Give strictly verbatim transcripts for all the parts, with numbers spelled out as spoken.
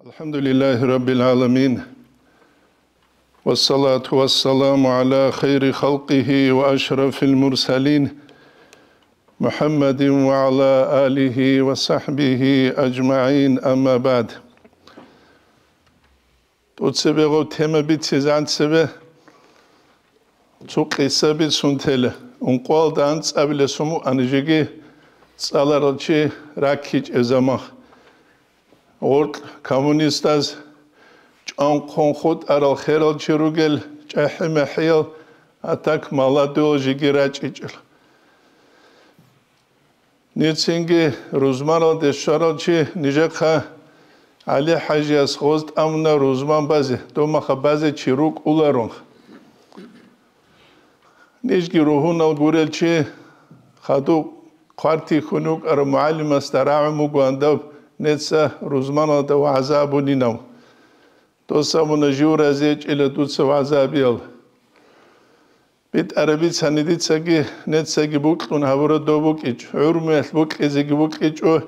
الحمد لله رب العالمين. والصلاة والسلام على خير خلقه وأشرف المرسلين محمد وعلى آله وصحبه أجمعين. أما بعد. ТӀоцебе гъов тема бицизан цебе цо къиса бицун тела. Ункъоялда анцӀабилесун муъани жеги цӀаларал чи раккичӀеб заман. Гъоркь коммунистаз чӀанхъун хутӀарал херал чи ругел чӀахӀи-махӀиял, а так молодёл жеги рачӀичӀел. Нецинги рузманалде щварал чи нижехъа ГӀали-хӀажияс гъоз тӀамуна рузман базе, домаха базе чи рукӀуларун. Нижги ругьунал гурел чи хадуб хъвартихьун вукӀарав мугӀалимасда рагӀун бугоан даб неца рузманалда вагӀза абунинав. Дос абуна, жив разиячӀила дуца вагӀза абиял. БитӀараб бицани дицаги, нецаги букьун гьабураб доб букӀичӀ, гӀурмуялъ букьизеги букьичӀо,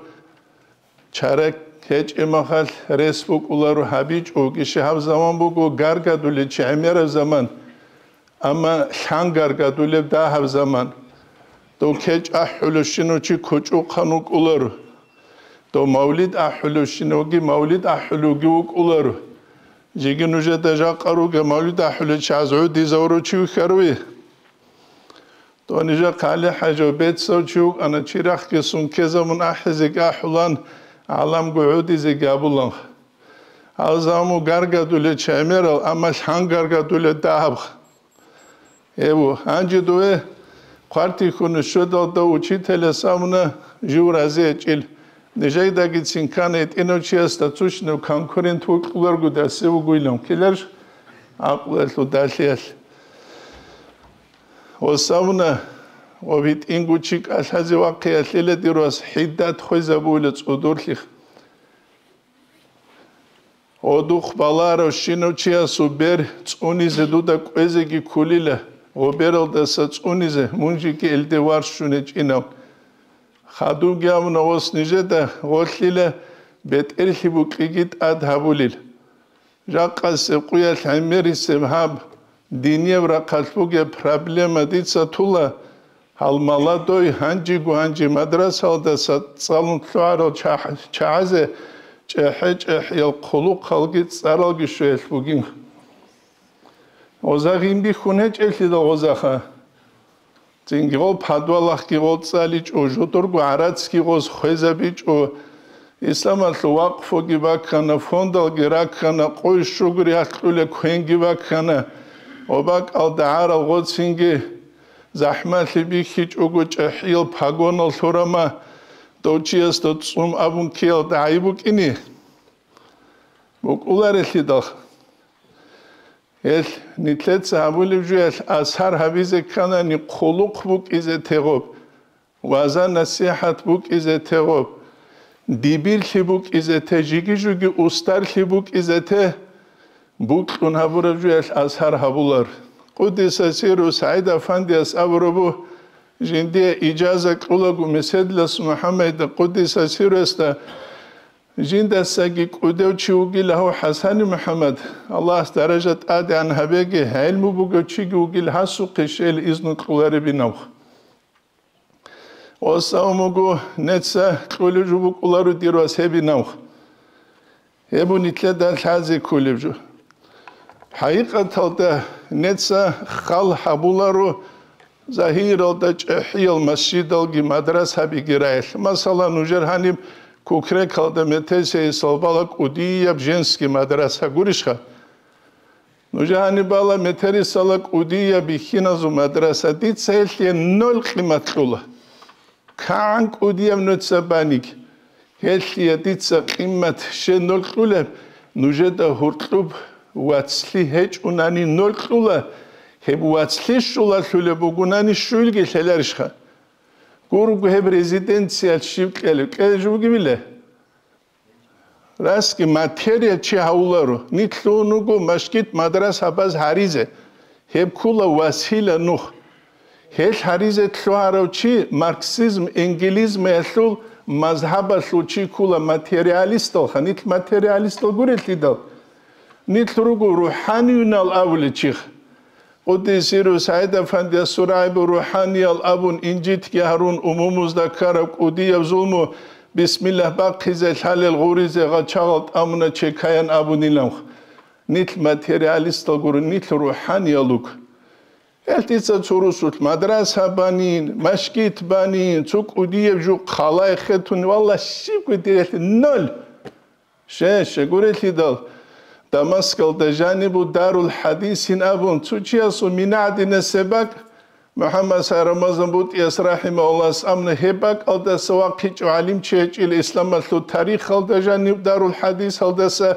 чарак гьечӀеб махалъ рес букӀуларо гьабичӀо, гиши гьаб заман буго гаргадулел чи гӀемераб заман, амма лъан гаргадулеб дагьаб заман. Дов кечӀ ахӀулевщинав чи кучӀухъан вукӀуларо. Дов мавлид ахӀулевщинавги мавлид ахӀулевги вукӀуларо. Жеги нужеда жакъа ругел мавлид ахӀулел чагӀаз гӀодизавурав чи вихьаруе. Дов нижехъа ГӀали-хӀажав бецав чи вукӀана, чи рахъги сун ккезабун ахӀизеги ахӀулан, гӀаламго гӀодизеги абулан. Гьал заму гаргадулел чи гӀемерал, амма лъан гаргадулел дагьаб. Эбу, гьанже дове хъвартихьун щведалда учителяс абуна, жив разиячӀил. Нижедагицин ккана гьитӀинав чиясда цущинав конкурент вукӀуларгу дассе вугуйлан ккеларш гӀакълуялъул далъиялъ. Ос абуна, ва гьитӀинго чи кӀалъазе вахъиялъила дир вас хӀиддат хвезабуйла цӀудурлъих. Гъодухъ баларавщинав чиясул бер цӀунизе дуда кӀвезеги кколила, гъобералдаса цӀунизе мун жеги элде варщун гьечӀинав. Хадубги абуна, ос нижеда гъолъила бетӀерлъи букьиги тӀад гьабулел. Жакъасеб къуялъ гӀемерисеб гьаб динияб рахъалъ бугеб проблема дица тула, гьал маладой гьанжего гьанже мадрасалдаса цӀалун лъугӀарал чагь-, чагӀазе чӀехӀе-чӀехӀиял хъулухъалги цӀаралги щвеялъ бугин. Гъоза гъин бихьун гьечӀелъидал гъозаха. Цинги гъол подвалахъги гъол цӀаличӀо, жодорго гӀарацги гъоз хвезабичӀо, исламалъул вакъфуги баккана, фондалги раккана, къуй щугури ахкьула квенги баккана, ва бакӀалда гӀарал гъоцинги захӀмалъи бихьичӀого чӀехӀиял погонал лъурама, дов чиясда цӀун абун ккеялда гӀайиб букӀине букӀуларелъидал. Гьелъ нилъеца гьабулеб жуялъ асар гьабизе кканани, хъулухъ букӀизе тегъоб, ваза-насихӀат букӀизе тегъоб, дибирлъи букӀизе те, жиги-жуги устарлъи букӀизе те, букьун гьабураб жуялъ асар гьабулар. Къудиса сиру СагӀид Афандияс абурабу, жиндие ижаза кьулаго Меседлас МухӀаммадида, къудиса сируясда, жиндасаги кӀудев чи вугила гьав ХӀасани МухӀаммад, Аллагьас даража тӀадегӀан гьабеги, гӀелму бугев чиги вугила гьасухъе щел изну кьуларебинавх. Осавмугу неца кьулев жо букӀуларо дир вас гьебинавх. Гьеб нилъеда лъазе кколеб жо. ХӀакъикъаталда неца хал гьабуларо, загьиралда чӀехӀиял масжидалги мадрасабиги раялъ. Масала, нужер гьаниб Кукрекалда Метесиясал бала кӀудияб женский мадраса гурищха? Нужер гьаниб бала Метерисала кӀудияб бихьиназул мадраса. Дица гьелъие ноль къимат кьула. КигӀан кӀудияб нуца баниг, гьелъие дица къимат щай ноль кьулеб, нужеда гьуркьуб вацлъи гьечӀунани ноль кьула, гьеб вацлъи щулалъулеб бугунани щуйилги лъеларищха? Гурого гьеб резиденциялъ щиб кьелеб, кьелеб жо бугебила? Расги материя чи гьавуларо, нилъун вуго машгит мадрасабаз гьаризе, гьеб ккула васила нух. Гьелъ гьаризе лъугьарав чи марксизм-энгелизмиялъул мазгьабалъул чи ккула материалисталха, нилъ материалистал гурелъидал, нилъ руго рухӀаниюнал абулел чихъ. Къуддис сирругьу СагӀид-афандияс сурайбу рухӀаниял абун, инжитги гьарун, умумузда ккараб кӀудияб зулму бисмиллагь бахъизе лъалел гъуризе гъачагъал тӀамуна чекаян абуниланха. Нилъ материалистал гуро, нилъ рухӀаниялуг. Гьел дица цо русулъ мадраса банин, машгит банин, цо кӀудияб жо хъалай хетун, валла, щибго дирелъи ноль. Ше, щегурелъидал, Дамаскалда жанибу дарул хӀадисин абун, цо чиясул мина гӀадинаб бакӀ, МухӀаммад Сай Рамазан БутӀияс рахӀимагьуллагьас амна гьеб бакӀалдаса вахъичӀо гӀалимчи гьечӀила исламалъул тарихалда жаниб дарул хӀадисалдаса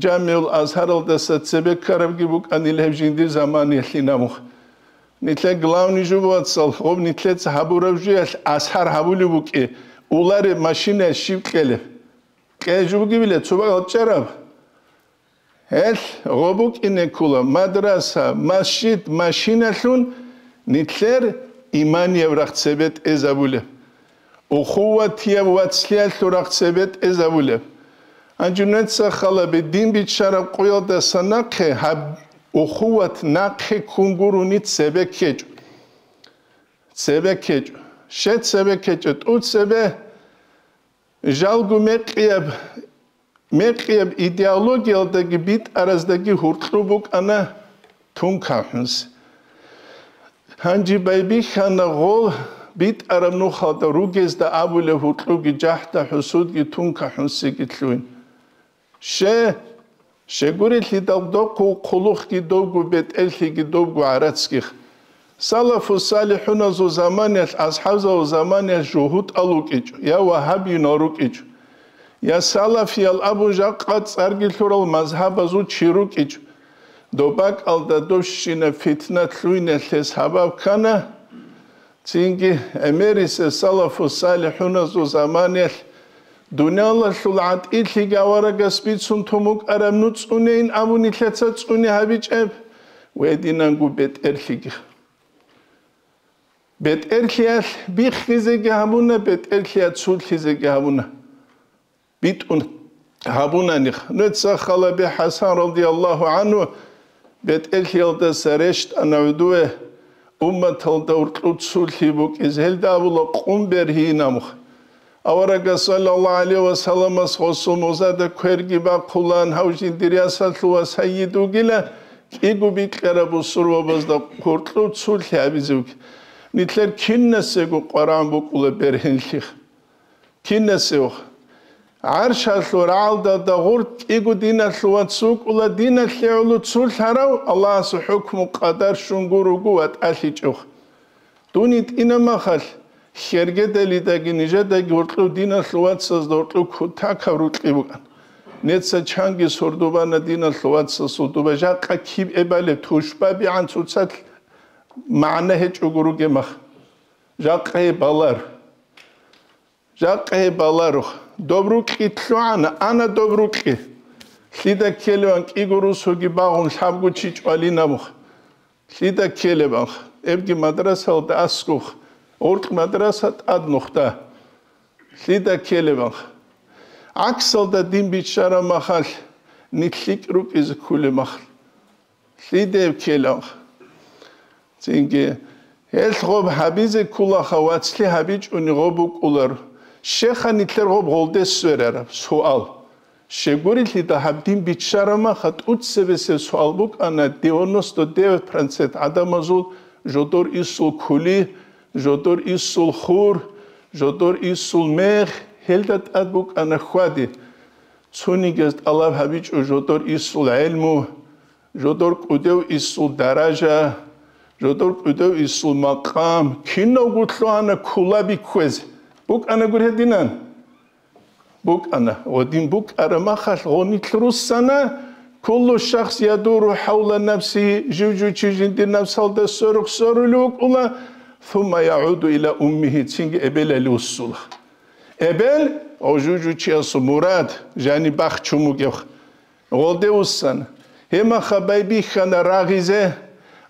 Жамиул Азгьаралдаса цебе ккарабги букӀанила гьеб жиндир заманиялъин абун. Нилъер главный жо, вацал, гъоб нилъеца гьабураб жуялъ асар гьабулеб букӀи, улареб машина щиб кьелеб? Кье жо бугебила цо бакӀал чӀараб. Гьелъ гъоб букӀине ккола мадраса, масжид, машиналъун нилъер иманияб рахъ цебе тӀезабулеб. Ухуватияб вацлъиялъул рахъ цебе тӀезабулеб. Гьанже нуца халабе дин биччараб къоялдаса нахъе гьаб ухуват нахъе ккун гурони цебе ккечӀо. Цебе ккечӀо. Ще цебе ккечӀо? ТӀуцебе жалго мекъияб, мекъияб идеологиялдаги битӀараздаги гьуркьу букӀана тункахӀунси. Гьанже байбихьана гъол битӀараб нухалда ругезда абулеб гьуркьуги жахӀда-хӀусудги тункахӀунсиги лъугьин. Ще, щегурелъидал дохъул хъулухъги довго, бетӀерлъиги довго гӀарацги. Салафу салихӀуназул заманиялъ, асхӀабзабазул заманиялъ жугьутӀал рукӀичӀо, я вагьабиюнал рукӀичӀо, я салафиял абун жакъа цӀарги лъурал мазгьабазул чи рукӀичӀо. Доб бакӀалда дощинаб фитна лъугьиналъе сабаб ккана. Цинги гӀемерисел салафу салихӀуназул заманиялъ дуниялалъул гӀатӀилъиги аварагас бицун тун букӀараб нуцӀцӀунейин абун нилъеца цӀуне гьабичӀеб, гьединанго бетӀерлъиги. БетӀерлъиялъ биххизеги гьабуна, бетӀерлъиялъ цулъизеги гьабуна. БитӀун гьабунаних. Нуца халабе ХӀасан радияллагьу гӀанхӀу бетӀерлъиялдаса рещтӀана гӀодове, умматалда гьуркьу цулъи букӀизе. Гьелда абула къун бергьинаб. Аварагас саллаллагьу гӀалайгьи ва салламас гъосул музада кверги бахъулаан, гьав жиндир ясалъул ва сайид вугила, кӀиго бикьараб бусурбабазда гьуркьу цулъи гьабизе вугила. Нилъер кинасего къваригӀун букӀула бергьенлъи. Кинасев? ГӀаршалъул рагӀалда гъуркь кӀиго диналъул вац вукӀула, диналъе гӀоло цулъарав, Аллагьасул хӀукму къадар щун гуро ватӀалъичӀев. Дун йитӀина махалъ, хьергедалидаги нижедаги гьоркьов диналъул вацазда гьоркьов кутакаб рукьи букӀан. Неца чанги сордубана диналъул вацасул дуба, жакъа киб эбалеб тушбабигӀан цоцалъ магӀна гьечӀого ругеб мах. Жакъа гьеб балар. Жакъа гьеб баларухъ. Доб рукьи лъугӀана, ана доб рукьи. Лъида ккелеван кӀиго русуги багъун лъабго чи чӀвалинабухъ. Лъида ккелебанх. Эбги мадрасалда аскӀухъ. Гъуркь мадраса тӀад нухда. Лъида ккелебанх. ГӀаксалда дин биччараб махалъ, нилъ лъикӀ рукӀизе кколеб махалъ. Лъидеб ккеланха. Цинги, гьелъ гъоб гьабизе кколаха, вацлъи гьабичӀони гъоб букӀулар. Щеха нилъер гъоб гъолде сверараб суал. Щегурелъидал гьаб дин биччараб маха, тӀуцебесеб суал букӀана, девяносто девять процент гӀадамазул жодор исул кули, жодор исул хур, жодор исул мех, гьелда тӀад букӀана хьвади. Цонигияз тӀалаб гьабичӀо жодор исул гӀелму, жодор кӀудев исул даража, жодор кӀудев исул макъам, кинавго лъугьана ккола бихьизе. БукӀана гури гьединан? БукӀана. Гъодин букӀараб махалъ гъо нилъ руссана, куллу шахс ядуру хӀавла нафсигьи, жив-жив чи жиндир напсалда сверухъ сверулев вукӀула, сумма ягӀуду иля уммигьи, цинги эбелалде вуссула. Эбел, гъо жив-жив чиясул мурад, жаниб бахчун бугеб. Гъолде вуссана. Гьеб маха байбихьана рагъизе,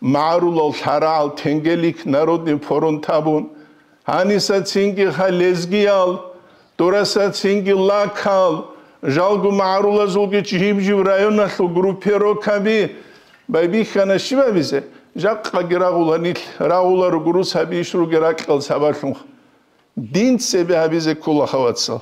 магӀарулал лъарагӀал тенгелик народный фронт абун. Гьаниса цинги ха лезгиял, Дураса цинги лакал, жалго магӀарулазулги жиб-жиб районалъул группировкаби байбихьана щиб абизе? Жакъаги рагъула нилъ, рагъула ругурус гьабищ ругел ракьал сабаблъун. Дин цебе гьабизе ккола, хавацал.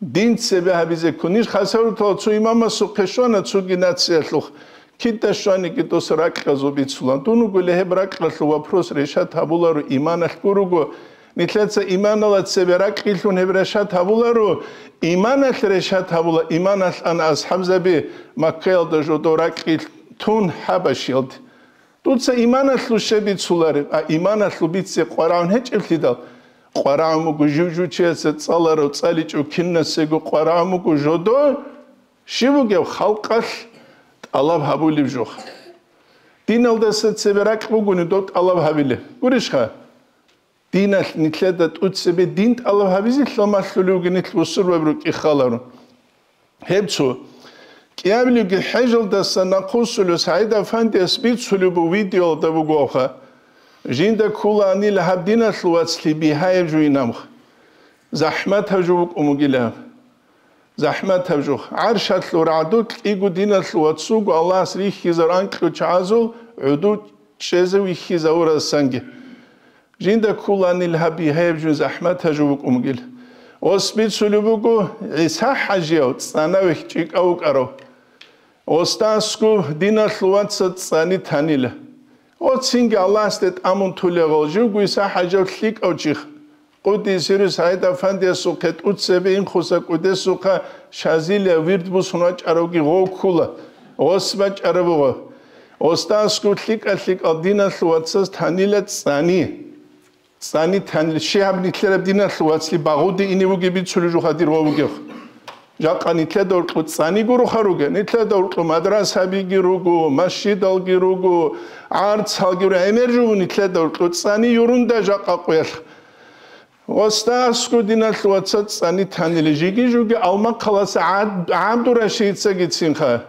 Дин цебе гьабизе ккун. Ниж хасаврутал цо имамасухъе щвана цоги нациялъухъ. Кида щваниги дос ракьазул бицула. Дун вугулей гьеб ракьалъул вопрос решат гьабуларо иманалъ гуруго. Нилъеца иманала цебе ракьилъун гьеб решат гьабуларо, иманалъ решат гьабула, иманалъ ана асхӀабзаби Маккаялда жодо ракьилъ тун Хабашиялде. Дуца иманалъул щиб бицулареб, а иманалъул бице къварагӀун гьечӀеблъидал, къварагӀун буго жив-жучияца цӀаларав цӀаличӀев кинасего къварагӀун буго жодо, щиб бугев халкъалъ тӀалаб гьабулеб жо. Диналдаса цебе ракь бугони дов тӀалаб гьабилеб. Гурищха? Диналъ нилъеда тӀуцебе дин тӀалаб гьабизелъул малъулев вугин нилъ бусурбаби рукӀин халарун. Гьеб цо. КӀиабилебги хӀежалдаса нахъвуссулев СагӀид-афандияс бицулеб буго видеоялда бугоха. Жинда кколаанила гьаб диналъул вацлъи бигьаяб жугьин аб. ЗахӀматаб жо букӀун бугила. ЗахӀматаб жо. ГӀаршалъул рагӀду кьиго диналъул вацуго Аллагьас рихьизар анкьго чагӀазул гӀуду чӀезе вихьизавурасанги. Жинда кколаанила гьаб бигьаяб жугьин захӀматаб жо букӀун бугила. Ос бицулеб буго ГӀиса-хӀажияв цӀанавехь чӀикӀав вукӀарав. Осда аскӀов диналъул вацаз цӀани танила. О, цинги Аллагьасде тӀамун тулегъал живго ГӀиса-хӀажияв лъикӀав чиха. Къуддиса сирругьу СагӀид-афандиясухъе тӀуцебе инхуса кӀудесухъа Шазилия вирд бусун вачӀаравги гъов ккула. Ос бачӀараб буго. Осда аскӀов лъикӀа-лъикӀал диналъул вацаз танила цӀани. ЦӀани танила. Щиб гьаб нилъераб диналъул вацлъи багъуде ине вугеб бицулеб жуха дир гъов вугев. Жакъа нилъеда уркьу цӀани гуроха ругел, нилъеда уркьу мадрасабиги руго, масжидалги руго, гӀарцалги руго, гӀемер жуго нилъеда уркьу цӀани юрунда жакъа къуялъ. Осда аскӀов диналъул вацаз цӀани танила, жиги-жуги Алмахъаласа ГӀаб-, ГӀабдурашидицагицинха.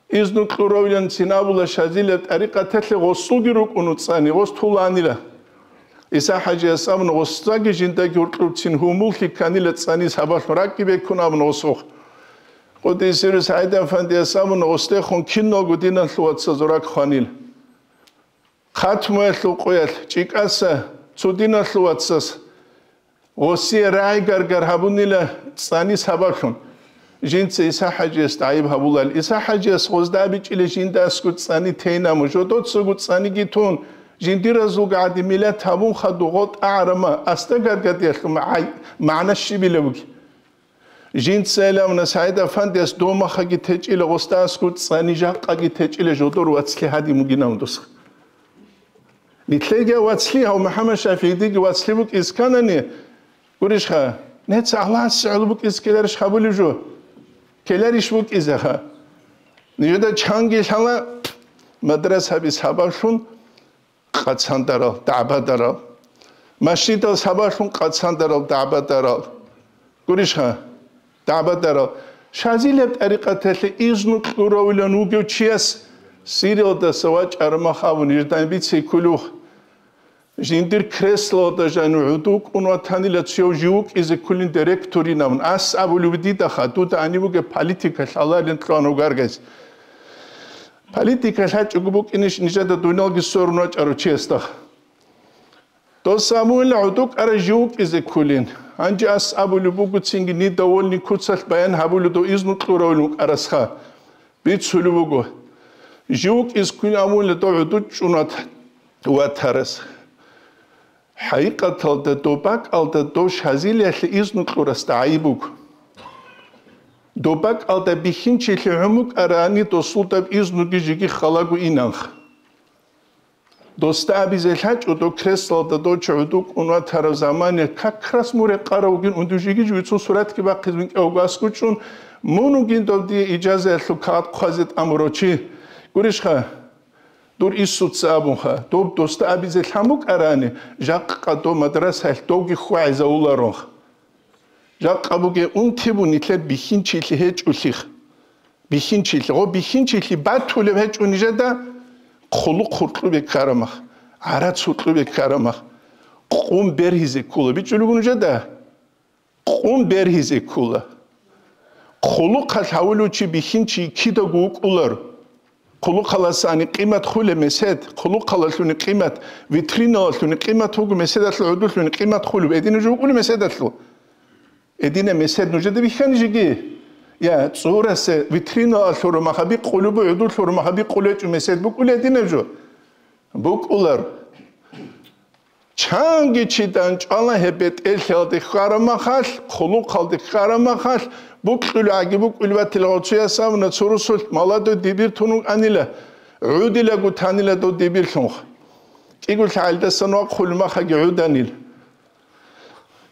Изну кьуравилан цин абула Шазилияб тӀарикъаталъе гъосулги рукӀун цӀани, гъос туланила. ГӀиса-хӀажияс абуна, гъосдаги жиндаги гьуркьубцин гьумуллъи кканила цӀани сабаблъун ракӀги беккун абуна гъосухъ. Къуддиса сирругьу СагӀид-афандияс абуна, гъосдехун киналго диналъул вацазул ракӀ хванила. Хатмуялъул къоялъ чӀикӀаса цо диналъул вацас гъосие рагӀи-гаргар гьабунила цӀани сабаблъун. Жинца ГӀиса-хӀажиясда гӀайиб гьабулал, ГӀиса-хӀажияс гъозда абичӀила жинда аскӀов цӀани тейин абун, жодоцаго цӀаниги тун, жиндиразулго гӀадин миллат гьабун хадуб гъо тӀагӀарама, асда гаргадиялъул магӀай-, магӀна щибила буги. Жинца илавна СагӀид-афандияс домахаги течӀила, гъосда аскӀов цӀани жакъаги течӀила жодор вацлъи гьадин бугин абун досха. Нилъеги вацлъи гьав МухӀаммад ШафигӀидиги вацлъи букӀиз кканани, гурищха, нецаги Аллагьасе гӀоло букӀиз ккеларищ гьабулеб жо? Ккеларищ букӀизеха? Нижеда чанги лъала мадрасаби сабаблъун къацандарал, дагӀбадарал. Масжидал сабаблъун къацандарал, дагӀбадарал. Гурищха, дагӀбадарал. Шазилияб тӀарикъаталъе изну кьуравилан вугев чияс Сириялдаса вачӀараб мах абун, жидайин бице кколев. Жиндир креслоялда жанив гӀуду кӀун ватанила цояв жив вукӀизе кколин директорин абун. Ас абулев дидаха, дуда гьанив вугеб политикалъ аларилан кьван вугаргайз. Политика лъачӀого букӀинищ нижеда дуниялги сверун вачӀарав чиясда? Дос абула гӀуду кӀара жив вукӀизе кколин. Гьанже ас абулеб буго цинги недовольный куцалъ баян гьабулеб дов изну кьуравилан вукӀарасха. Бицулеб буго. Жив вукӀизе кколин абула дов гӀуду чӀун ват-, ватарас. ХӀакъикъаталда доб бакӀалда дов Шазилиялъе изну кьурасда гӀайиб буго. Доб бакӀалда бихьинчилъи гӀумукӀарани досулдаб изнуги жиги халаго инанха. Досда абизе лъачӀо, дов креслалда дов чи гӀуду кӀун ватараб замане как раз мун рекъарав вугин, унду жиги-жугицун суратги бахъизе винкӀавго аскӀучӀун, мун вугин дов дие ижазаялъул кагъат хъвазе тӀамурав чи. Гурищха, дур инсуца абунха, доб досда абизе лъан букӀарани, жакъа дов мадрасаялъ довги хьвагӀизавуларонха. Жакъа бугеб унти бу нилъер бихьинчилъи гьечӀолъих. Бихьинчилъи, гъо бихьинчилъи батулеб гьечӀо нижеда, хъулухъ гьуркьубе ккарамах, гӀарац гьуркьубе ккарамах, къум бергьизе ккола бичӀчӀулего нужеда. къун бергьизе ккола. Хъулухъалъ гьавулев чи бихьинчи кидаго вукӀулар. Хъулухъаласани къимат хулеб месед, хъулухъалалъуни къимат, витриналалъуни къимат вуго, меседалъул гӀодулъуни къимат хулеб, гьединаб жо вукӀуна меседалъул. Гьединаб месед нужеда бихьани жеги. Я, цӀурасе витрина лъураб махаби къулубу гӀудулъ лъураб махаби къулечӀо месед букӀули гьединаб жо? БукӀулар. Чанги чи данчӀвала гьеб бетӀерлъиялде хьвараб махалъ, хъулухъалде хьвараб махалъ, букьулгӀаги букӀулеб батила гъоцояс абуна цо русулъ маладой дибир тун вукӀанила, гӀудилаго танила дов дибирлъунха. КӀиго лъагӀалдасан вахъулеб махаги гӀуданила.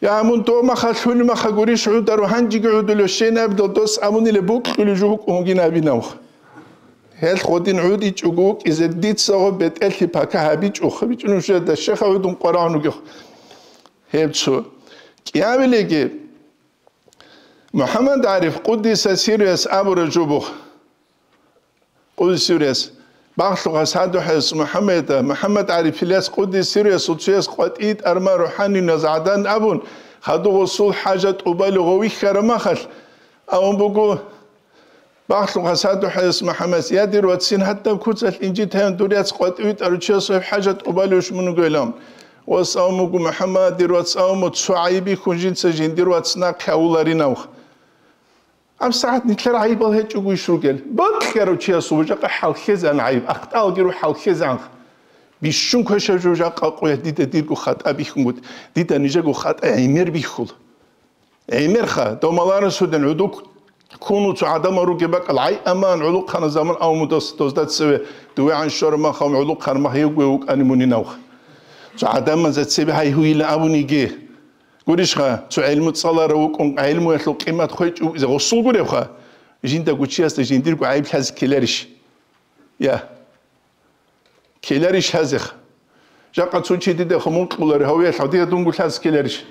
Я, мун дов махалъ хьулеб маха гурищ гӀударо, гьанжеги гӀудулев щейин абидал дос абунила букьулев жо вукӀун вугин абинавха. Гьелъ гъодин гӀудичӀого вукӀизе дица гъо бетӀерлъи пака гьабичӀоха, бичӀунев щведа щеха гӀудун къварагӀун вугев. Гьеб цо. КӀиабилеги МухӀаммад ГӀариф Къуддиса сирруяс абура жубух. Къуддиса сирруяс. Багълъухъас гьадухъес МухӀаммада, МухӀаммад ГӀарифилас Къуддиса сирруясул цояс къватӀи тӀарма рухӀаниназ гӀадан абун, хадув гъосул хӀажат тӀубали гъов вихьараб махалъ, абун буго, багълъухъас гьадухъес МухӀаммадас: «Я, дир вацин, гьадаб куцалъ инжит гьавин дур яц къватӀи витӀарав чиясул хӀажат тӀубалевищ мун вугевилан?» Вас абун буго: «МухӀаммад, дир вац, абун, цо гӀайиб бихьун жинца жиндир вац нахъе гьавуларинавха». АбсагӀат нилъер гӀайибал гьечӀого иш ругел. Бокьарав чиясул жакъа хӀалхьезан гӀайиб, ахталги ру хӀалхьезанха. Бищун квешав жо жакъа къоя дида дирго хатӀа бихьунгут, дида нижего хатӀа гӀемер бихьула. ГӀемерха, домаларасудин гӀудук ккуну цо гӀадамал ругеб бакӀал гӀай аман гӀулухъана заман авмудас дозда цеве дувегӀан щвараб махав гӀулухъан мах гьевгуе вукӀани мунинавха. Цо гӀадамазда цебе гьай гьуйила абуниги. Гурищха, цо гӀелму цӀаларав вукӀун, гӀелмуялъул къимат хвечӀев вукӀизе гъосул гуребха, жиндаго чиясда жиндирго гӀайиб лъазе ккеларищ? Я. Ккеларищ лъазеха? Жакъа цо чи дида хъумун кьулари гьавиялъ гьадия дунго лъазе ккеларищ?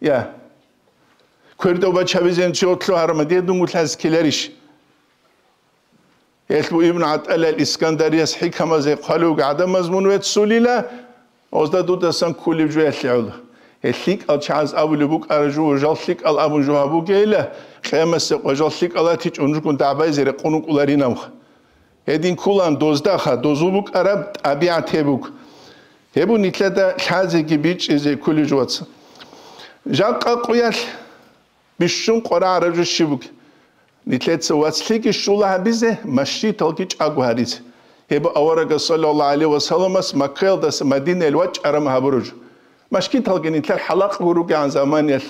Я. Квердав бачабизен чи отлъу гьарма дия дунго лъазе ккеларищ? Гьелъ бу Ибн ГӀатӀалал Искандарияс хӀикамазе хъвалев гӀадамаз мун веццулила, озда дудасан ккулеб жуялъе гӀоло. Гьел лъикӀал чагӀаз абулеб букӀара жо, жал лъикӀал абун жо гьабугейила, къиямасеб къо жал лъикӀал атичӀун рукӀун дагӀбайзе рекъон вукӀуларинавха. Гьедин ккулан доздаха, дозул букӀараб тӀабигӀат гьеб буго. Гьеб бу нилъеда лъазеги бичӀчӀизе ккулеб жо, вац. Жакъа къуялъ бищун къварагӀараб жо щиб бугеб? Нилъеца вацлъиги щула гьабизе, машгиталги чӀаго гьаризе. Гьеб аварагас, саллаллагьу гӀалайгьи ва салламас, Маккаялдаса Мадинаялде вачӀараб гьабураб жо. Машгиталги нилъер хӀалакъго ругегӀан заманиялъ,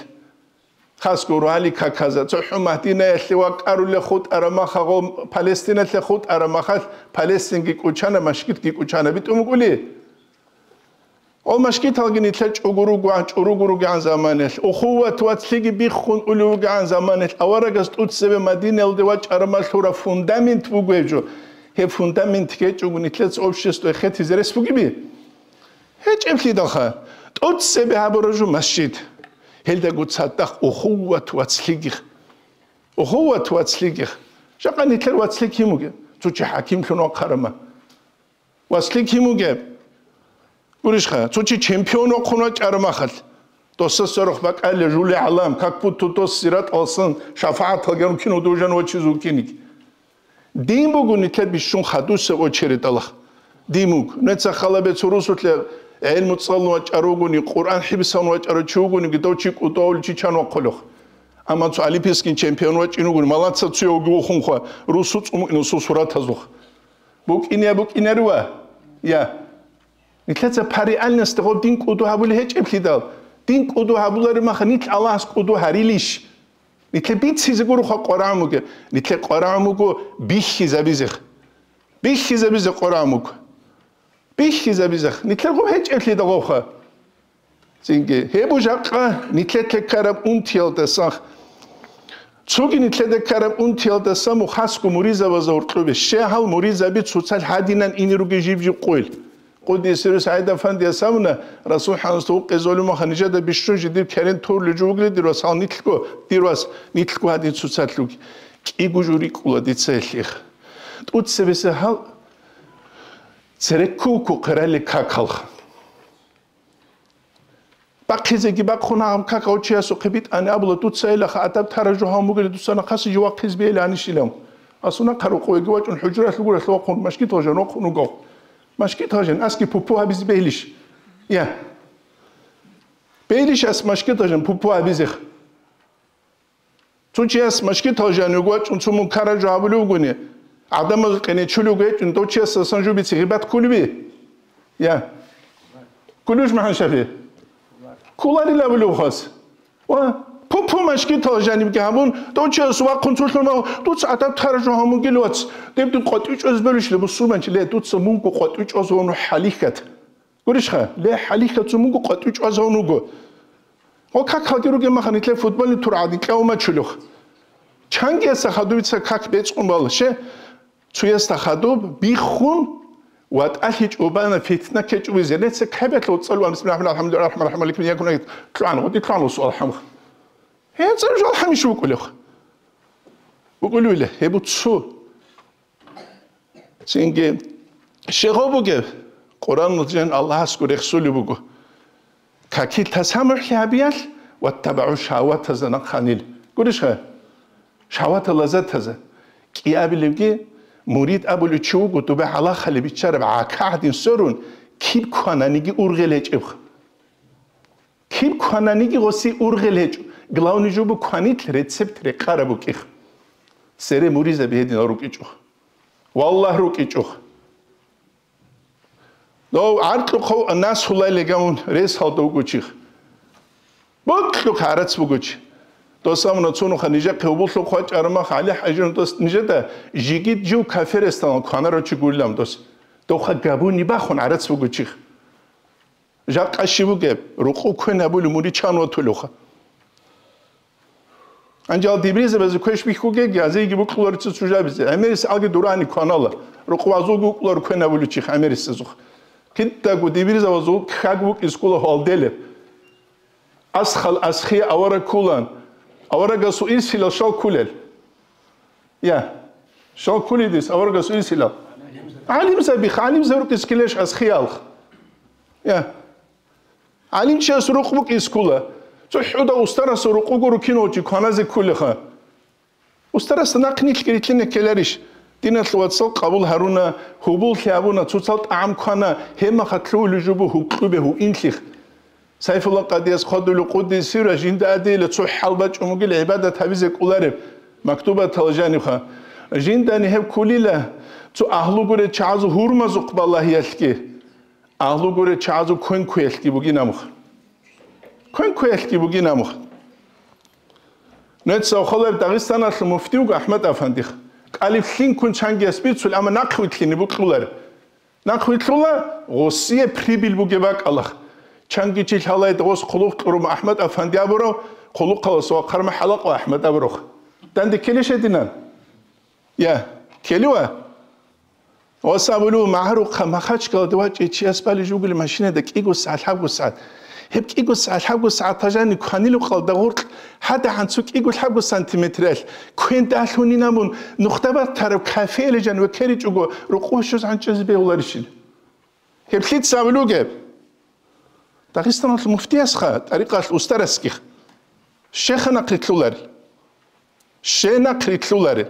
хасго рогьалил каказа, цохӀо Мадинаялъе вакӀарулел хутӀараб махагъо, Палестиналъе хутӀараб махалъ, Палестинги кӀучана, машгитги кӀучана битӀун букӀули. Гьал машгиталги нилъер чӀугу ругогӀан, чӀуругу ругегӀан заманалъ, ухуват вацлъиги биххун улев вугегӀан заманалъ, аварагас тӀуцебе Мадинаялде вачӀараб махалъ лъураб фундамент буго гьеб жо. Гьеб фундамент гьечӀого нилъеца обществое хетизе рес бугеби? ГьечӀеблъидалха, тӀуцебе гьабураб жо масжид. Гьелдаго цадахъ ухуват вацлъиги. Ухуват вацлъиги. Жакъа нилъер вацлъи кин вугеб? Цо чи хӀакимлъун вахъарама. Вацлъи кин вугеб? Гурищха, цо чи чемпион вахъун вачӀараб махалъ, досасда рохь бакӀалила жули гӀалам, как будто дос сираталсан шафагӀаталги гьарун кин вудужан вачиз вукиниги. Дин буго нилъер бищун хадусеб очередалахъ. Дин буго. Нуца халабе цо русулъе гӀелму цӀалун вачӀар вугони, Къуръан хӀибсагьун вачӀарав чи вугониги, дов чи кӀудовли чи чан вахъулев. Амма цо олимпийский чемпион вачӀин вугони, малаца цуявги вухунха, русу цӀумукӀин усул суратазухъ. БукӀине букӀинарива? Я. Нилъеца по реальности гъоб дин кӀуду гьабулеб гьечӀеблъидал, дин кӀуду гьабулареб маха нилъ Аллагьас кӀуду гьарилищ? Нилъе бицизе гуроха къварагӀун бугеб, нилъе къварагӀун буго бихьизабизех. Бихьизабизе къварагӀун буго. Бихьизабизех. Нилъер гъоб гьечӀеблъидал гъобха. Цинги, гьеб бу жакъа нилъеца ккараб унтиялдасан. Цоги нилъеда ккараб унтиялдасан мухасго муризабазда гьоркьобе. Щегьал муризаби цоцал гьадинан ине ругел жиб-жиб къойил. Къуддиса сирругьу СагӀид-афандияс абуна, Расул хӀанасда гьукъизе гьолев муха нижеда бищун жидер керен турлел жо вугилан, дир вас, гьал нилъго, дир вас, нилъго гьадин цоцалъ руги. КӀиго жо рикӀкӀула дица гьелъихъ. ТӀуцебесеб гьал цереккуку хъералел какалха. Бахъизеги бахъун гьаб какав чиясухъе битӀани абула, дуца илаха адаб тара жо гьавун бугели, дуца нахъаси жо вахъиз бейиланищилан. Асуна хъарукъуеги вачӀун хӀужралъ гуралъ вахъун, машгитал жан вахъун вугав. Машгитал жан аски пупу гьабизе бейилищ? Я. Бейилищ ас машгитал жан пупу гьабизех? Цо чияс машгитал жанив вачӀун цо мункараб жо гьабулев вугони, гӀадамазул къиничулев гьечӀун, дов чиясасан жубице гъибат кколеби? Я. Кколевищ, МухӀаммад Шафи? Кколарила абулев хас. Ва пу-пу машгитал жанибги гьабун, дов чияс вахъун цолъун вав, дуца адаб тара жо гьамугил вац. Деб дин къватӀив чӀваз белищ, ле, мусулманчи, ле, дуца мунго къватӀив чӀваз вавну хӀалихьат. Гурищха, ле, хӀалихьа цо мунго къватӀив чӀвазавун вуго. Гъо как халги ругеб маха нилъер футбольный тур гӀадин кьавмачулев. Чангияса хадубица как бецӀун бала, ще, цуясда хадуб биххун, ватӀалъи чӀубана, фитна ккечӀо бугезереца кабиялъ цӀалуан, бисмиллагьи рахӀмани рахӀим, рахӀмани рахӀим, лъугӀан, гъоди лъугӀан суал гьамха. Гье, цӀалужал гьамиш вукӀулев. ВукӀулевила, гьеб цо. Цинги щегъов бугеб, Къуръаналда жан Аллагьасго рехсулеб буго. Какил тасамухӀлъи гьабиялъ, ваттабагӀу шагьаватазда нахъанил. Гурищха? Шагьаватал лаззатазда. КӀиабилебги, мурид абулев чи вуго, доба гӀалахалеб биччараб гӀака гӀадин сверун, киб квананиги ургъел гьечӀебха. Киб квананиги гъоси ургъел гьечӀо. Главный жо буго кванилъ рецепт рекъараб букӀих. Цере муризаби гьединал рукӀичӀо. Валлагь, рукӀичӀо. Дов гӀаркьухъав насулай легамун рес гьалда вугочих. Бокьухъ гӀарац бугоч. Дос амуна цунуха нижехъе гьубуллъухъ вачӀармах, ГӀали ХӀажин дос нижеда жигит жив кафе ресталан кванарав чи гурилан дос. Довха габуни бахун гӀарац бугочих. Жакъа щиб бугеб, рукъу квен гьабулев муричан ватулевха. Анжал дибризабазе квеш бихьугеги, азейги букӀуларица сужабизе, гӀемерис алги дурани кванала, рукъу азулги вукӀулар квен гьабулев чихъ гӀемерисазухъ. Кидаго дибризабазул ккаг букӀискула гьалделеб. Асхал асхие авараг ккулан, аварагасул ирсилал щал ккулел? Я. Щал ккулидис аварагас ирсилал? ГӀалимзабих, гӀалимзаб рукӀис ккелеш асхиялх. Я. ГӀалимчияс рукъ букӀис ккула. ЦохӀуда устарасул рукъ гуро кинав чи кваназе ккулеха. Устарасда нахъ нилъги рилълъине ккеларищ? Диналъ вацал къабул гьаруна, гьубуллъи гьабуна, цоцал тӀагӀам квана, гьебмахалъ лъугьулев жо буго гьукьубе гьуинлъих. Сайфулла къадияс хъвадулев къуддиса сирругьу жинда адейила цо хӀал бачӀун бугел гӀибадат гьабизе кӀолареб, мактубатал жанибха. Жиндани гьеб ккулила цо агьлу гурел чагӀазул гьурмазухъ балагьиялъги, агьлу гурел чагӀазул квен ккуялъги бугин амух. Квен ккуялъги бугин амух. Нуца хъолеб Дагъистаналъул муфти вуго АхӀмад Афандих. КӀалиблъин ккун чангияс бицул, амма нахъ вилълъине букьулар. Нахъ вилълъула гъосие прибыль бугеб бакӀалах. Чанги чи лъалайда гъос хъулухъ кьурун АхӀмад Афанди абурав, хъулухъалас вахъарма хӀалакъа АхӀмад абурухъ. Данде ккелищ гьединан? Я, ккелева? Гъос абулев, магӀарухъа Махачкалада вачӀей чияс балей жугули машинада кӀиго сагӀат, лъабго сагӀат. Гьеб кӀиго сагӀат, лъабго сагӀат тажани кванилухъалда гъоркь гьадагӀан цо кӀиго лъабго сантиметралъ квен далъунин абун, нухда батараб кафеялъ жан векеричӀого, рукъу щуз гӀанчӀизе бегьуларищил? Гьеб лъица абулугеб? Дагъистаналъул муфтиясха, тӀарикъалъ устарасгих. Щеха нахъ рилълъуларел. Ще нахъ рилълъуларел.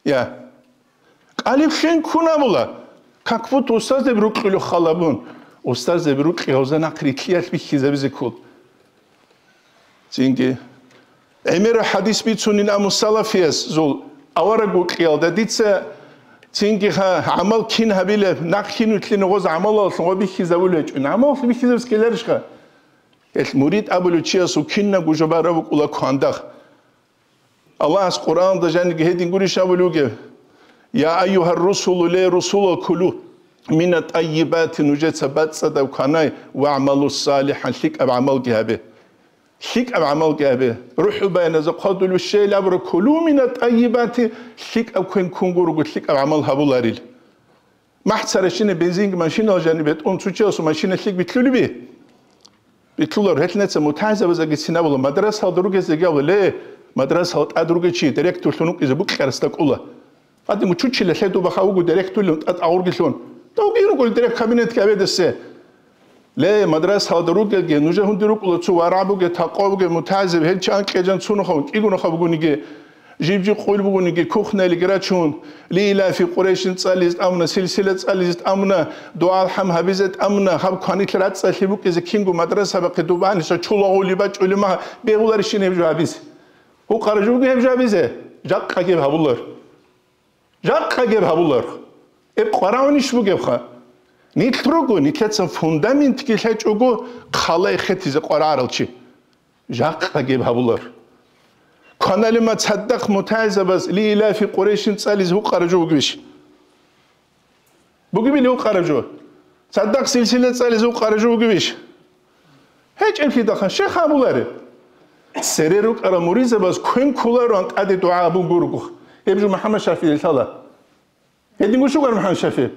Я. КӀалиблъин ккун абула. Как будто устаздеб рукьулев халабун. Устаздеб рукьи гьавза нахъ рилълъиялъ бихьизабизе ккол. Цинги. ГӀемераб хӀадис бицунин аму салафиясул авараг вукьиялда дица цинги ха-, гӀамал кин гьабилеб, нахъ кин вилълъине гъоз гӀамалалъун гъо бихьизабулев гьечӀун. ГӀамалалъ бихьизабиз ккеларищха? Гьелъ мурид абулев чиясул кинабго жо бараб букӀула квандагъ. Аллагьас Къуръаналда жаниги гьедин гурищ абулев вугев: «Я айюгьар русулу, ле русулал, кулу мина тӀайибати», нужеца бацӀцӀадаб кванай, «вагӀмалу салихӀан», лъикӀаб гӀамалги гьабе. ЛъикӀаб гӀамалги гьабе. РухӀул Баяназда хъвадулев щейил абура: «Кулу мина тӀайибати», лъикӀаб квен ккун гурого, лъикӀаб гӀамал гьабуларил. МахӀ царашине бензинги машинал жаниб бетӀун цо чиясул машина лъикӀ битлъулеби? Битлъулар. Гьелъ нуца мутагӀилзабазеги цин абула, мадрасалда ругезеги абула, ле, мадрасалда тӀад ругев чи директорлъун вукӀизе букьарасда кӀула. Гьадин учучила лъе дуба ха вуго директорлъун тӀад агъургилъун. Давги ругел директ кабинетги абедасе. Ле, мадрасалда ругелги, нужер гьунди рукӀула цо варагӀ бугеб, такъва бугеб, мутагӀзиб, гьел чи анкьи-гьечӀан цунухъа вукӀун, кӀигунухъа бугониги, жиб-жиб къуйру бугониги, кухнялиги рачун, Лиилафи Къурайшин цӀализе тӀамуна, силсила цӀализе тӀамуна, дугӀа-алхӀам гьабизе тӀамуна, гьаб кванилъ рацӀцӀалъи букӀизе кинго мадраса бахъи дубанила чулагъули бачӀули ма бегьуларищин гьеб жо гьабизе? Гьукъара жо буго гьеб жо гьабизе? Жакъа гьеб гьабулар. Жакъа гьеб гьабулар. Гьеб къварагӀунищ бугебха? Нилъ руго, нилъецан фундаментги лъечӀого, хъалай хетизе къварагӀарал чи. Жакъа гьеб гьабулар. Кваналима цадахъ мутагӀилзабаз Лиилафи Къурайшин цӀализе гьукъара жо бугебищ? Бугебили гьукъара жо? Цадахъ силсила цӀализе гьукъара жо бугебищ? ГьечӀеблъидахъан щай гьабулареб? Цере рукӀарал муридзабаз квен кколароан тӀаде дугӀа гьабун гурого. Гьеб жо МухӀаммад ШафигӀида лъала. Гьедин гушугар МухӀаммад ШафигӀи?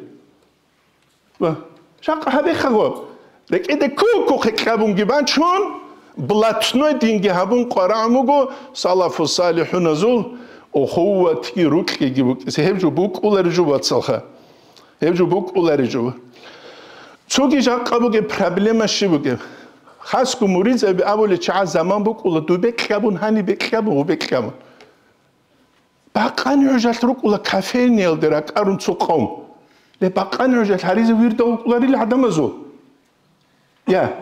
Ва жакъа гьабехъаго, рекӀеде кку-кку хъекьабунги бачун, блатной динги гьабун къварагӀун буго салафу-салихӀуназул ухуватги рукьиги букӀизе. Гьеб жо букӀулари жо, вацалха. Гьеб жо букӀулари жо. Цоги жакъа бугеб проблема щиб бугеб? Хасго муридзаби абулел чагӀаз заман букӀула, дубе кьабун, гьанибе кьабун, гьубе кьабун. Бакъани гӀужалъ рукӀула кофейниялде ракӀарун цо къом. Ле, бакъани гӀужалъ гьаризе вирда вукӀуларил гӀадамазул? Я.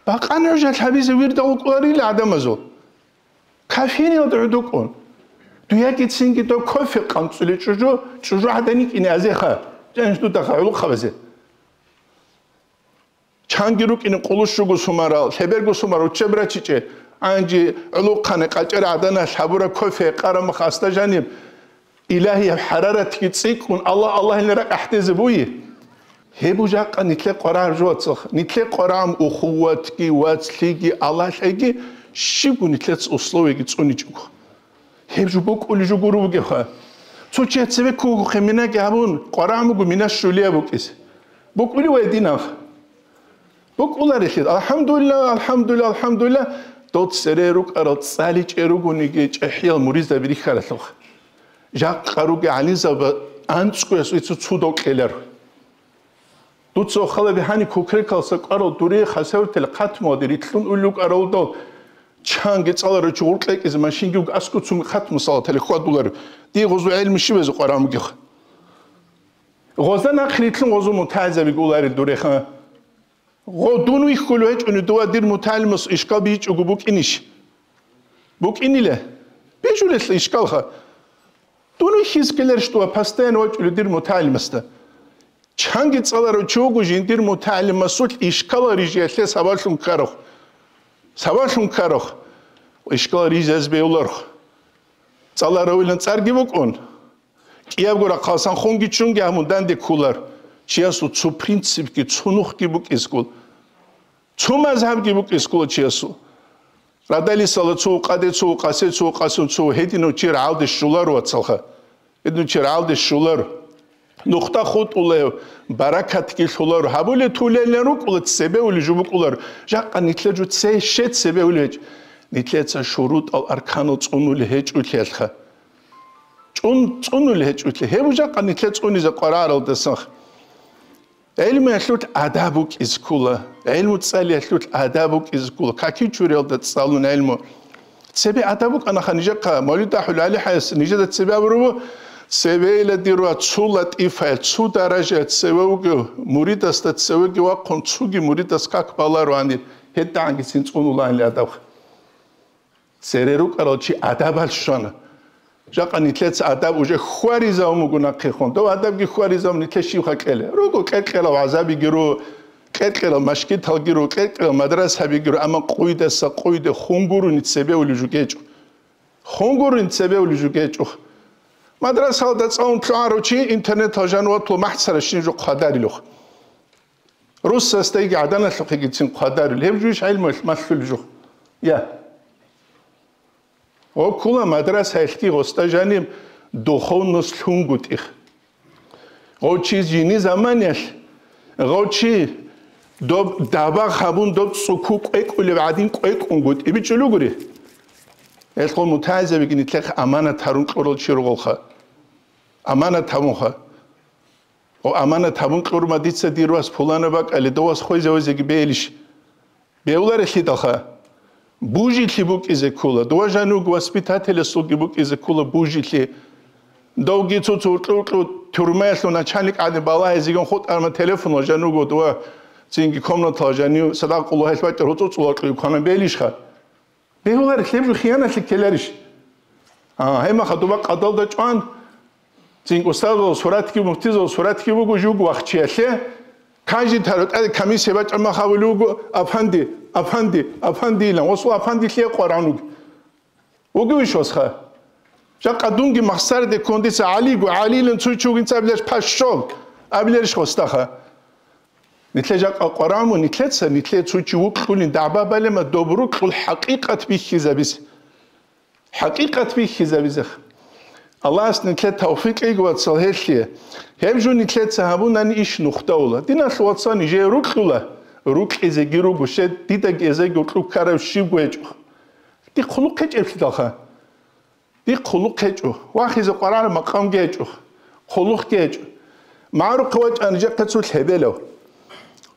Бакъани гӀужалъ гьабизе вирда вукӀуларил гӀадамазул? Кофейниялде гӀодукӀун. Дуяги цинги дов кофе къанцӀули чӀужу, чӀужу гӀадани кӀине азеха. Жаниш дудахъа гӀулухъабазе. Чанги рукӀине къулущуго сумарал, лъеберго сумарал учеб рачичӀе, гӀанжи гӀулухъане къачӀер гӀаданалъ гьабураб кофе къарамах асда жаниб, илагьияб хӀараратги цӀикӀкӀун, Аллагь, Аллагьилан ракӀ ахӀдезе буй. Гьеб жакъа нилъе къварагӀ жо, вацалха, нилъе къварагӀун ухуватги, вацлъиги, Аллагьлъайги, щибго нилъеца условияги цӀуничӀого. Гьеб жо букӀули жо гуро бугебха. Цо чи цебе ккугухъе минаги гьабун, къварагӀ буго мина щулияб букӀизе. БукӀули вай динаб. БукӀуларелъи, алхӀамдулилла, алхӀамдулилла, алхӀамдулилла, дол цере рукӀарал цӀаличӀей ругониги чӀехӀиял муридзаби рихьаралъухъ. Жакъа ругел гӀалимзаби анцӀгоясул цо цудав кьеларо. Дуца хала бихьани кукрекалса кӀварал дуре хасавтал хъатмуялде рилълъун улел рукӀаралдал, чанги цӀаларав чи гъур кьекӀизе машинги вуго аскӀов цунги хъатму салатали хьвадуларо. Дие гъозу гӀелму щибазе къварагӀун бугеха? Гъозда нахъ рилълъун гъозу мутагӀилзабиги уларел дуреха. Гъо, дун вихьулев гьечӀони дова дир мутагӀилимас ишкал бичӀого букӀинищ? БукӀинила. Бижулелъа ишкалха. Дун вихьизе ккеларищ дова постоянно вачӀулев дир мутагӀилимасда? Чанги цӀаларав чи вуго жиндир мутагӀилимасулъ ишкалал рижиялъе сабаблъун ккарухъ. Сабаблъун ккарухъ. Ишкалал рижизе бегьуларухъ. ЦӀаларавилан цӀарги букӀун. КӀиябго рахъалсан хунги чунги гьамун данде кколар. Чиясул цо принципги, цо нухги букӀискул. Цо мазгьабги букӀискула чиясул. Радалисала цо къаде цо, къасе цо, къасун цо, гьединав чи рагӀалде щоларо, вацалха. Гьединав чи рагӀалде щоларо. Нухда хутӀулев, баракатги лъоларо. Гьабулеб тулелин рукӀула, цебе ули жо букӀулар. Жакъа нилъер жо це-, ще цебе ули гьечӀ. Нилъеца шурутӀал арканал цӀунули гьечӀулъиялъха. ЧӀун-, цӀунули гьечӀулъи. Гьеб жакъа нилъер цӀунизе къвараралдасан. ГӀилмуялъул адаб букӀизе ккола, гӀилму цӀалиялъул адаб букӀизе ккола, каки чуриялда цӀалун гӀилму. Цебе адаб букӀанаха нижехъа, Мавлид АхӀул ГӀалихӀаяс нижеда цебе абурабу, цевейла дир ва цо латӀифаялъ, цо даражаялъ цеве вугев, муридасда цевеги вахъун, цоги муридас как баларуанир, гьедагӀангицин цӀунулаанли адаб. Цере рукӀарал чи адабалъ щвана. Жакъа нилъеца адаб уже хьваризавун буго нахъехун. Дов адабги хьваризавун нилъе щибха кьела? Руго кьекьерал гӀазабиги ру, кьекьерал машгиталги ру, кьекьерал мадрасабиги ру, амма къуйдаса къуйде хун гурони цебе ули жугечӀо. Хун гурони цебе ули жугечӀо. Мадрасалда цӀалун лъугӀарав чи интернетал жаниватлу махӀцара щин жо хъвадарилух. Руссасдайги гӀаданалъухъегицин хъвадарил, гьеб жуйищ гӀелмуялъ малъулел жо? Я. Гъо ккула мадрасаялъги гъосда жаниб духовность лъунгутӀи. Гъов чи жини заманиялъ, гъов чи доб дабагъ гьабун, доб цӀуку кӀвекӀулеб гӀадин кӀвекӀунгутӀи бичӀчӀулев гури. Гьелъго мутагӀилзабиги нилъехъ аманат гьарун кьурал чи ругелха. Аманат гьабунха. О, аманат гьабун кьурма дица дир вас пулана бакӀали, довас хвезавазеги бейилищ? Бегьуларелъидалха. Бужилъи букӀизе ккола, дова жанив вуго воспитателасулги букӀизе ккола бужилъи. Довги цо-цо уркьу-уркьу тюрмаялъул начальник гӀадин балагьизегун хутӀарма телефонал жанив вуго дова цинги комнатал жанив садакъуллагь гьел бачӀар гьуцӀуцӀулал кьуй квана бейилищха? Бегьуларищ, гьеб жо хияналъи ккеларищ? А, гьеб маха дуба къадалда чӀван, цинги устазул суратги, муфтизул суратги буго жуго вахчиялъе, каждый тару тӀаде комиссия бачӀа мах абулев вуго, «Апанди, апанди, апанди», илан. Осул апандилъе къваран вуго. Вугевищ осха? Жакъа дунги махсариде ккун дица ГӀалиго, ГӀалилан цо чи вугинца абиларищ пашшол, абиларищ хостаха? Нилъе жакъа къваран ву, нилъеца, нилъе цо чи вукьулин дагӀба балема доб рукьул хӀакъикъат бихьизабизе. ХӀакъикъат бихьизабизех. Аллагьас нилъе тавфикъ кьеги, вацал, гьелъие. Гьеб жо нилъеца гьабунани иш нухда ула. Диналъ вацал, нижее рукьула, рукьизеги руго, щед дидаги эзеги рукьу ккарав щивго гьечӀо. Дихъ хъулухъ гьечӀеблъидалха. Дихъ хъулухъ гьечӀо, вахизе къварагӀараб макъамги гьечӀо, хъулухъги гьечӀо. МагӀарухъе вачӀани жакъа цо лъебелав.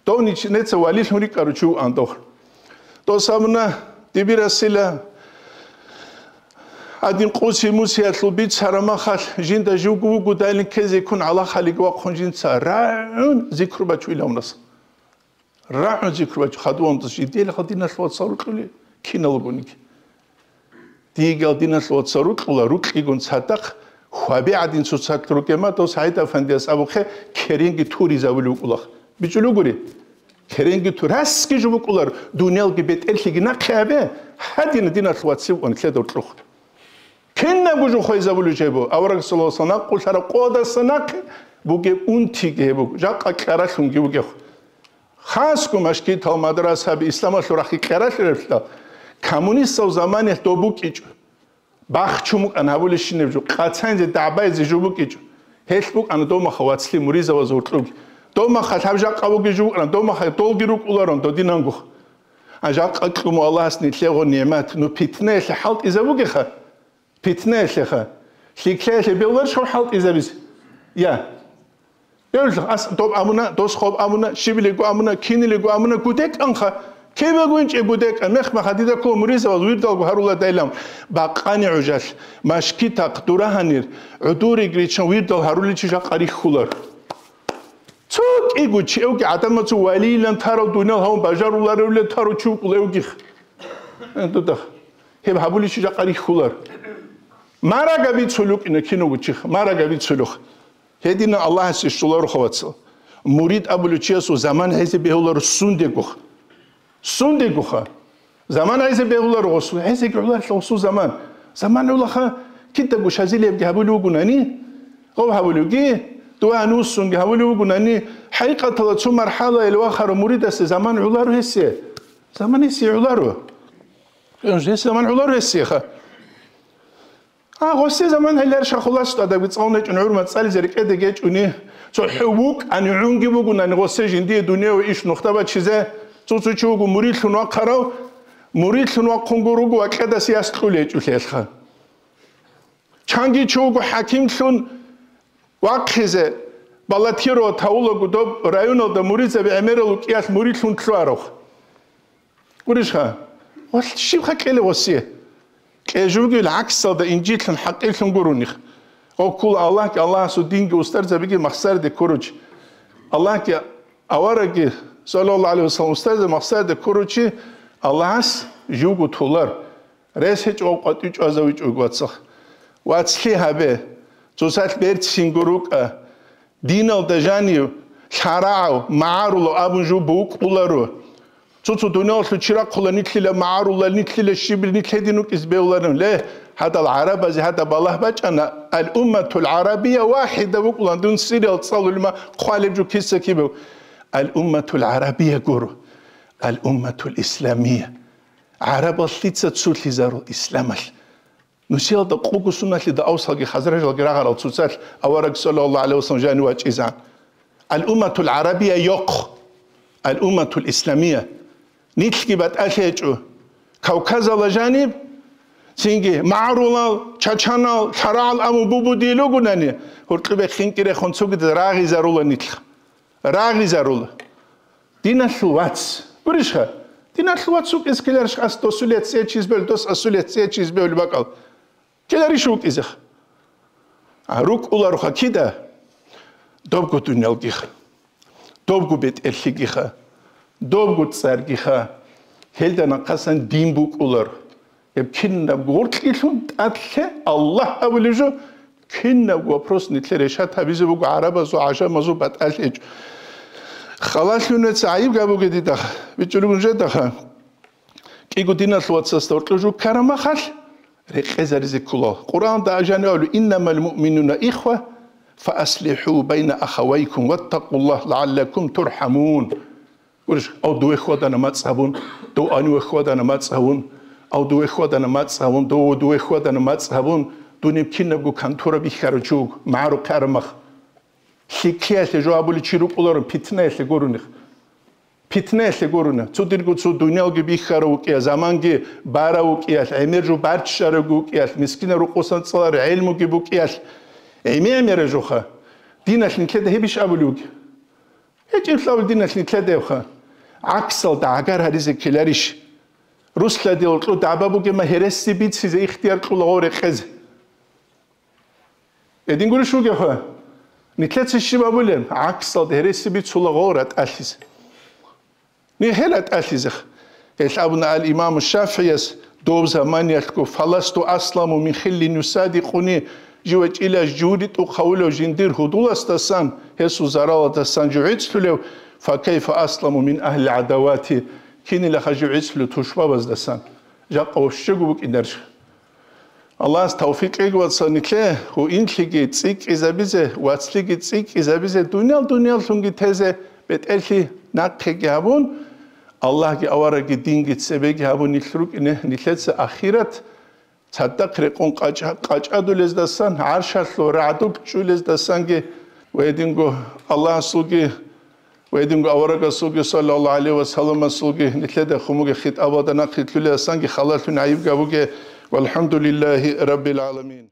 Дов нич-, неца валилъун рикӀарав чи вугӀан дов. Дос абуна, дибирасила гьадин къуси-мусиялъул бицара махалъ жинда живго вугодайилан ккезе ккун гӀалахалиги вахъун жинца рагӀун зикру бачу илавнас. РагӀун зикру бачу хадувандас жидеялъ диналъ вацал рукьули киналгониги. Дигал диналъ вацал рукьула, рукьигун цадахъ хваби гӀадин цоцалъ рукӀема, дос ГӀайд-Афандияс абухъе керенги туризабули вукӀулах. БичӀулугури? Керенги ту-, расги жо букӀулар, дуниялги бетӀерлъиги нахъе абе, гьадина диналъ вацив ва нилъеда уркьухъ. Кинабго жо хвезабулев жебу, авараг саллаллагьу гӀалайгьи ва саллам накъулъараб къодаса нахъе бугеб унтиги гьеб буго, жакъа кьаралъунги бугехъ. Хасго машгитал, мадрасаби исламалъул рахъи кьаралъи рехъа, коммунистал заманалъ доб букӀичӀо. Бахчун букӀан гьабулебщинаб жо, къацанзе дагӀбазе жо букӀичӀо. Гьелъ букӀана домаха вацлъи муризаваз гьоркьуги. Домаха лъаб жакъа буги жо букӀана, домаха долги рукӀуларун додинангух. А жакъа кьуму Аллагьас нилъего нигӀмат, ну питнаялъе хӀалтӀизабугеха. Питнаялъеха. ЛъикӀлъиялъе бегьуларищ хӀалтӀизабизе? Я. Бегьулищ, ас доб амуна, дос хоб амуна, щибилего амуна, кинилего амуна, гудекӀанха. Кибего инчӀе гудекӀан, мехмаха дида ккола муризаваз вирдалго гьаруладайилан. Бакъани гӀужалъ, машкитахъ, дурагьанир, гӀудуригричан вирдал гьаруличи жакъа рихьулар. Цо кӀиго чевги гӀадамацу валийлан тарав, дуниял гьавун бажаруларевле тарав чи вукӀулевгих. Э, дудах. Гьеб гьабуличи жакъа рихьулар. Марага бицулукъина киного чих, марага бицулух. Гьедина Аллагьасе щоларо хавацал. Мурид абулев чиясул заман гьезе бегьуларо сундегух. Сундегуха. Заман гьезе бегьуларо гъосул, гьезеги гӀоларла гъосул заман. Заман гӀолаха кидаго шазилиябги гьабулев вугунани, гъов гьабулевги, дугьа нусунги гьабулев вугунани, хӀакъикъатала цо мархӀалаялъ вахарав муридасе заман гӀоларо гьесие. Заман гьесие гӀоларо. Гьес заман гӀоларо гьесиеха. А, гъосие заман гьелар шахулас тӀадаги цӀалун гьечӀун гӀурма цӀализе рекӀеде гьечӀуни, цохӀо вукӀани гӀунги бугунани гъосие жиндие дуневе иш нухда бачизе, цо-цо чи вуго мурилъун вахъарав, мурилъун вахъунго руго ва кьедас яс кьулей гьечӀулъелха. Чанги чи вуго хӀакимлъун вахъизе, баллотировать гьавулаго доб районалда муридзаби гӀемерал рукӀиялъ мурилъун лъугьарав. Гурищха? Валъ щибха кьелев гъосие? Кьежугил гӀаксалда инжитлъун хӀакъирлъун гуроних. Оккула Аллагьги, Аллагьасул динги, устарзабиги махсариде ккуручи. Аллагьги аварагги, саллаллагьу гӀалайгьи вассалам, устарзаби махсариде ккуручи Аллагьас живго толар. Рес гьечӀо къватӀив чӀвазавичӀого вацахъ. Вацлъи гьабе, цоцалъ берцинго рукӀа. Диналда жанив лъарагӀав, магӀарулав абун жо букӀуларо. Цо-цо дуниялалъул чирахъула нилъила магӀарулал, нилъила щибил, нилъ гьедин вукӀиз бегьуларин. Ле, гьадал гӀарабазе гьадаб балагь бачӀана, ал-умматул гӀарабия вахӀида вукӀулан, дун сириял цӀалулима хъвалеб жо киса кибев. Ал-умматул гӀарабия гуро, ал-умматул исламия. ГӀарабал лъица цулъизарул исламалъ. Нусиялда къуго суналъида авсалги хазражалги рагъарал цоцалъ авараг саллаллагьу гӀалайгьи вассалам жанив вачӀизан. Ал-умматул гӀарабия йохъ. Ал-умматул исламия. Нилъги батӀалъи гьечӀо. Кавказала жаниб, Цинги магӀарулал, чачанал, лъарагӀал абун бубудил ругунани, гьоркьоб бехинги рехун цогидаз рагъизарула нилъ. Рагъизарула. Диналъул вац. Гурищха? Диналъул вац вукӀизе ккеларищ ас досулец цӀечӀиз бевли, дос асулец цӀечӀиз бевли бакӀал? Ккеларищ вукӀизеха? А, рукӀулароха кида? Добго дуниялгиха. Добго бетӀерлъигиха. Добго цӀаргиха. Гьелда нахъасан дин букӀулар. Гьеб кинабго гъоркьилъун тӀадлъе Аллагь абулеб жо, кинабго вопрос нилъер решат гьабизе буго гӀарабазул, гӀажамазул батӀалъ гьечӀо. Халалъунеца гӀайиб гьабуге дидаха, бичӀчӀулеб жедаха. КӀиго диналъул вацасда гьоркьоб жо ккараб махалъ, рекъезаризе ккола. Къуръанда ажани абулеб: «Иннамал муъминуна ихва, фа аслихӀу байна ахавайкум ваттакъуллагь лагӀаллакум турхӀамун». Гурищ, ав дуе хьвадана мацӀ гьабун, дов гьаниве хьвадана мацӀ гьавун, ав дуе хьвадана мацӀ гьавун, дов дуе хьвадана мацӀ гьабун, дунеб кинабго контора бихьарав чи вуго, магӀарухъе араб мах. ЛъикӀлъиялъе жо абулев чи рукӀуларо, питнаялъе гурони. Питнаялъе гурони. Цо дирго цо дунялги бихьарав вукӀиялъ, заманги барав вукӀиялъ, гӀемер жо барччарав вукӀиялъ, мискинаб рукъосан цӀалараб гӀелмуги букӀиялъ, гӀемер-гӀемераб жоха. Диналъ нилъеда гьебищ абулев вугеб? ГьечӀеб лъабал диналъ нилъедабха. ГӀаксалда гӀагар гьаризе ккеларищ? Русладе гьоркьоб дагӀба бугеб ма гьереси бицизе ихтияр кьола гъов рекъезе. Гьедин гурищ вугевха? Нилъеца щиб абулеб? ГӀаксалда гьереси бицула гъов ратӀалъизе. Нигьел ратӀалъизеха. Гьелъ абуна ал-Имаму ШафигӀияс доб заманиялъго: «Фаласту асламу мин хиллин юсадикъуни», жив вачӀила жури тӀухъавулев жиндир гьудуласдасан, гьесул заралалдасан жив гӀицӀлъулев, «факайфа асламу мин агьлил гӀадавати», кинилаха жив гӀицӀлъулев тушбабаздасан? Жакъа вощего букӀинарищ. Аллагьас тавфикъ кьеги, вацал, нилъее гьуинлъиги цӀикӀкӀизабизе, вацлъиги цӀикӀкӀизабизе, дуниял-дунияллъунги тезе, бетӀерлъи нахъеги гьабун, Аллагьги аварагги динги цебеги гьабун нилъ рукӀине, нилъеца ахират цадахъ рекъон къачӀа-, къачӀадулездасан, гӀаршалъул рагӀдулъ чӀулездасанги ва гьединго Аллагьасулги ва гьединго аварагасулги, саллаллагьу гӀалайгьи ва салламасулги, нилъеда хъумуге хитӀабалда нахъе лъулеасанги халалъун гӀайиб гьабуге. ВалхӀамдулиллагьи раббил гӀаламин.